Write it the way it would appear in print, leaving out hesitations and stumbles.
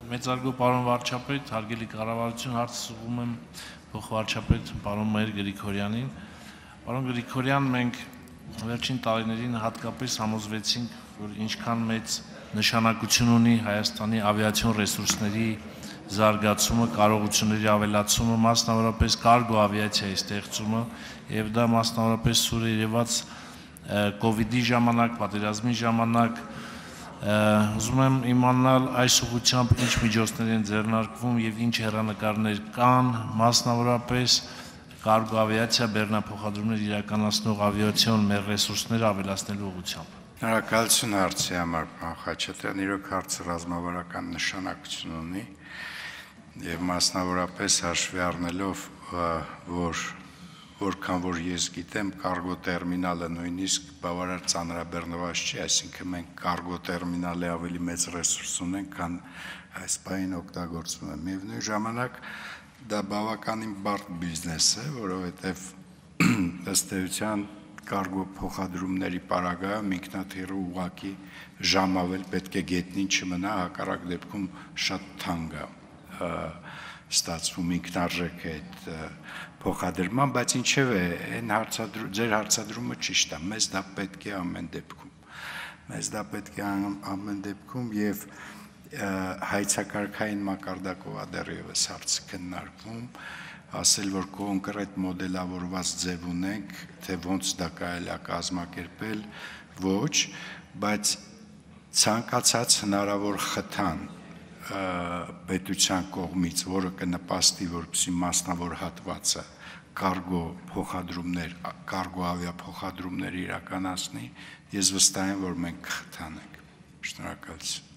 Մեծարգո պարոն վարչապետ, հարգելի կառավարություն, հարցս ուղղում եմ փոխվարչապետ պարոն Մհեր Գրիգորյանին։ Պարոն Գրիգորյան, մենք վերջին տարիներին հատկապես համոզվեցինք, որ ինչքան մեծ նշանակություն ունի Հայաստանի ավիացիոն ռեսուրսների զարգացումը, կարողությունների ավելացումը, մասնավորապես կարգո ավիացիայի ստեղծումը, եւ դա մասնավորապես սուր երևաց կոവിഡ്ի ժամանակ, պատերազմի ժամանակ։ Ուզում եմ իմանալ այս ուղղությամբ ինչ միջոցներ են ձեռնարկվում եւ ինչ հեռանկարներ կան, մասնավորապես կարգո ավիացիա բեռնափոխադրումներ իրականացնող ավիացիոն մեր ռեսուրսները ավելացնելու ուղղությամբ։ Շնորհակալություն հարցի համար, պարոն Խաչատրյան, իրոք հարցը ռազմավարական նշանակություն ունի եւ մասնավորապես հաշվի առնելով, որ որքան որ ես գիտեմ, կարգո տերմինալը նույնիսկ բավարար ծանրաբեռնված չի, այսինքն մենք կարգո տերմինալի ավելի մեծ ռեսուրս ունենք, քան այս պահին օգտագործվում է։ Միևնույն ժամանակ դա բավականին բարդ բիզնես է, որովհետև ըստ էության կարգո փոխադրումների պարագայում ինքնաթիռը ուղղակի ժամավել պետք է գետնին չմնա, հակառակ դեպքում շատ թանկ է ստացվում ինքնարժեք է այդ փոխադրման, բայց ինչևէ այն ձեր հարցադրումը ճիշտ է, մեզ դա պետք է ամեն դեպքում։ Մեզ դա պետք է ամեն դեպքում եւ հայցակարգային մակարդակով է դեռևս հարցը քննարկվում, ասել որ կոնկրետ մոդելավորված ձև ունենք, թե ոնց դա կարելի է կազմակերպել, ոչ, բայց ցանկացած հնարավոր խթան պետության կողմից, որը կնպաստի, որպեսզի մասնավոր հատվածը կարգո ավիափոխադրումներ իրականացնի, ես վստահ եմ, որ մենք կխթանենք։ Շնորհակալություն։